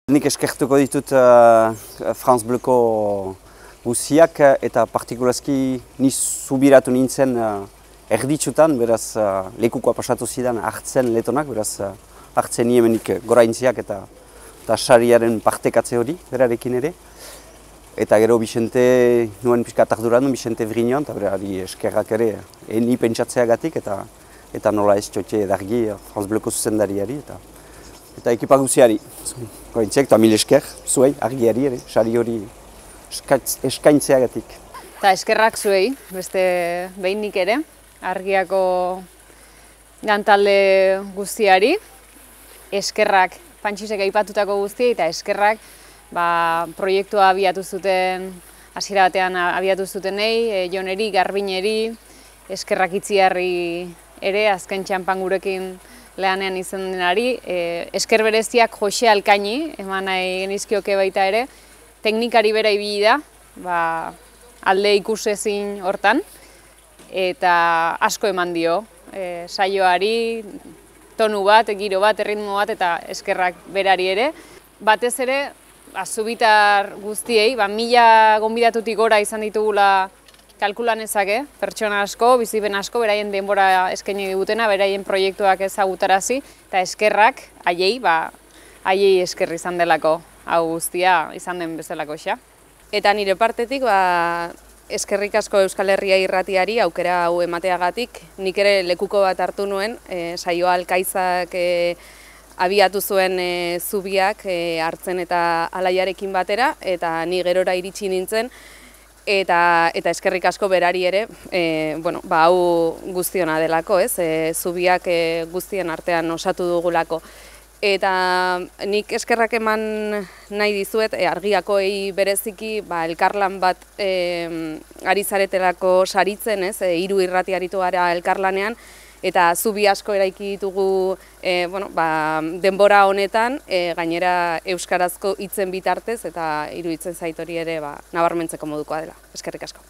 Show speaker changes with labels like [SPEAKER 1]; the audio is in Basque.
[SPEAKER 1] Nik eskertuko ditut France Bleuko guztiak eta partikulazki ni zubiratu nintzen erditsutan, beraz lekukoa pasatu zidan hartzen letonak, beraz hartzen niemenik goraintziak eta sariaren partekatze hori berarekin ere. Eta gero Bixente nuen pixkat arduran, Bixente Vrignon, eta berari eskerrak ere ni pentsatzeagatik eta nola ez txotxe edargi France Bleuko zuzendariari eta ekipa guziari. Goraintziak eta mil esker, zuei, argiari ere, sari hori eskaintzeagatik.
[SPEAKER 2] Eta eskerrak zuei, beste behinik ere, argiako gantalde guztiari, eskerrak Pantxisek aipatutako guztiei eta eskerrak proiektua abiatu zuten, hasiera batean abiatu zutenei, Joneri, Garbineri, eskerrak Itziarri ere, azken txanpan gurekin lehanean izan denari, esker bereziak Jose Alkaini, eman nahi genizkioke baita ere, teknikari bera ibili da, alde ikusezin hortan, eta asko eman dio, saioari, tonu bat, giro bat, erritmo bat, eta eskerrak berari ere. Batez ere, Zubitar guztiei, 1000 gonbidatutik gora izan ditugula kalkulan ezake, pertsona asko, bizipen asko, beraien denbora eskaini digutena, beraien proiektuak ezagutarazi, eta eskerrak, haiei esker izan delako, hau guztia izan den bezalako xa.
[SPEAKER 3] Eta nire partetik, eskerrik asko Euskal Herria Irratiari aukera hau emateagatik, nik ere lekuko bat hartu nuen, saioa Alkaizak abiatu zuen zubiak hartzen eta alaiarekin batera, eta ni gerora iritsi nintzen, eta eskerrik asko berari ere, hau guztiona delako, zubiak guztien artean osatu dugulako. Eta nik eskerrak eman nahi dizuet, argiakoei bereziki elkarlan bat ari zaretelako saritzen, 3 irrati aritu gara elkarlanean, eta zubi asko eraiki ditugu denbora honetan, gainera euskarazko hitzen bitartez, eta iruditzen zait hori ere nabarmentzeko modukoa dela. Eskerrik asko.